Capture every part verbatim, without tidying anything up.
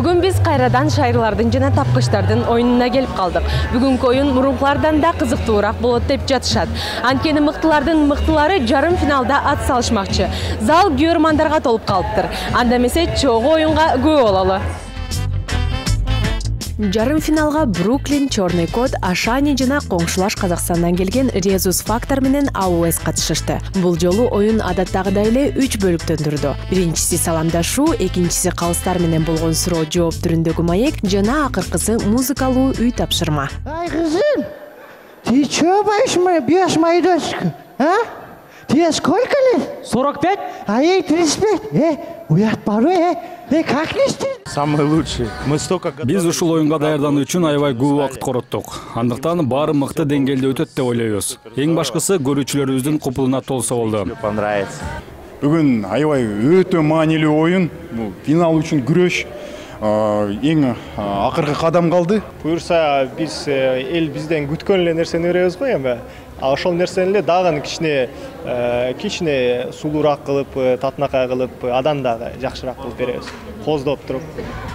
Бүгүн биз кайрадан шайырлардын жана тапкычтардын оюнуна келип калдык. Бүгүнкү оюн мурункулардан да кызыктуураак болот деп жатышат. Анткени мыктылардын мыктылары жарым финалда ат салышмакчы. Зал күйөрмандарга толуп калыптыр. Анда эмесе чогуу оюнга күбө бололу. Жарым финалга Бруклин, Черный кот, Ашани жана коңшулаш Казакстандан келген Резус Фактор менен АОС катышышты. Бул жолу оюн адаттагыдай эле үч бөлүктөн турду. Биринчиси саламдашуу, экинчиси калыстар менен болгон суроо жооп түрүндөгү маек жана акыркысы музыкалуу үй тапшырма. Ай кызым, ты чё бьешь мою дочку, а? Тебе сколько лет? сорок пять? А ей тридцать пять. Э, уят порой, э. Э, как не стыдно? Самый лучший. Мы столько Биз ушул оюнга даярдануу үчүн аябай көп убакыт короттук. Андыктан баары мыкты деңгээлде өтөт деп ойлойбуз. Эң башкысы көрүүчүлөрүбүздүн купулуна толсо болду. Понравится. Бүгүн аябай өтө маанилүү оюн. Бул финал үчүн күрөш. Эң акыркы кадам калды. Буюрса биз эл бизден күткөн эле нерсени беребиз го эми. А ошол нерсени эле дагы кичине кичине сулуураак кылып, татынакай кылып, адан дагы жакшыраак кылып беребиз. Коздоп туруп.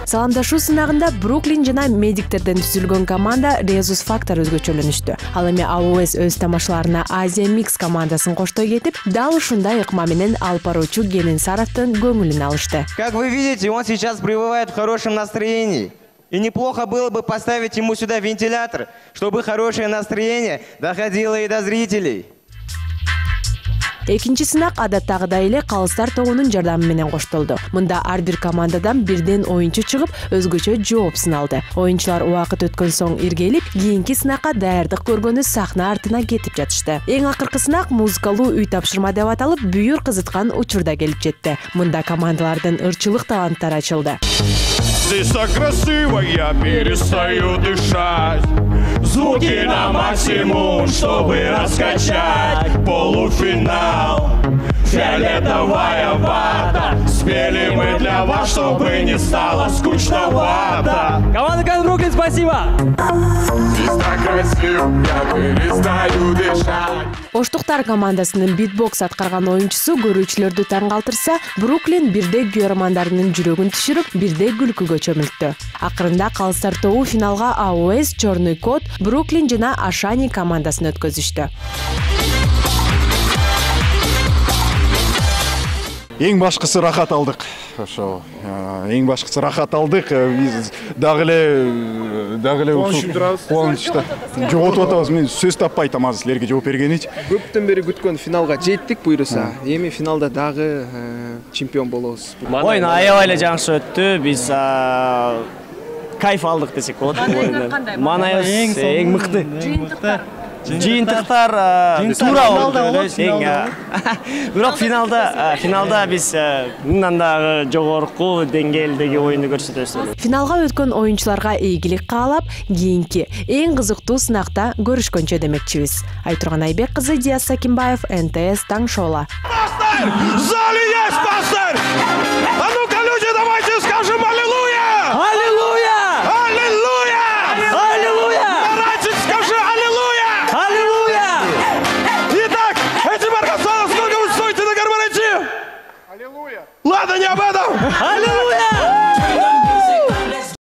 Саламдашуу сынагында Бруклин жана медиктерден түзүлгөн команда Резус Фактор өзгөчөлөнүштү. Ал эми АОС өз тамашаларына Азия Микс командасын коштой кетип, дал ушундай ыкма менен алып баруучу Генин Саровдун көңүлүн алышты. Как вы видите, он сейчас пребывает в хорошем настроении. И неплохо было бы поставить ему сюда вентилятор, чтобы хорошее настроение доходило и до зрителей. Экинчи сынак адаттагыдай эле калыстар тобунун жардамы менен коштолду. Мында ар бир командадан бирден оюнчу чыгып, өзгөчө жооп сыналды. Оюнчулар убакыт өткөн соң иргелип, кийинки сынакка даярдык көргөнү сахна артына кетип жатышты. Эң акыркы сынак музыкалуу үй тапшырма деп аталып, бүйүр кызыткан учурда келип жетти. Мында командалардын ырчылык таланттары ачылды. Здесь так красиво, я перестаю дышать. Звуки на максимум, чтобы раскачать. Полуфинал, фиолетовая вата. Спели мы для вас, чтобы не стало скучновато. Команда Бруклин, спасибо! Здесь так красиво, я перестаю дышать. Оштуктар командасынын битбокс аткарган оюнчусу көрүүчүлөрдү таң калтырса, Бруклин бирде күйөрмандарынын жүрөгүн түшүрүп, бирде күлкүгө чөмүлттү. Акырында калыстар тобу финалга АОС, Черный кот, Бруклин жана Ашани командасын өткөзүштү. Эң башкысы рахат алдык. Ошо, эң башкысы рахат алдык. Биз дагы эле дагы эле кубанычта жоготуп атабыз. Мен сөз таппай атам азыр силерге жооп бергенич. Көптөн бери күткөн финалга жеттик буйруса. Эми финалда дагы чемпион болобуз. Оюн аябай эле жакшы өттү. Биз кайф алдык десек болот. Манайыбыз эң мыкты. Жыйынтыктар туура болду. Бирок финалда финалда биз мындан дагы жогорку деңгээлдеги оюнду көрсөтөбүз. Финалга өткөн оюнчуларга ийгилик каалап, кийинки эң кызыктуу сынакта көрүшкөнчө демекчибиз. Айтурган Айбек кызы, Диас Сакимбаев, эн тэ эс Таң шоула. В зале есть пастырь! А ну-ка, люди, давайте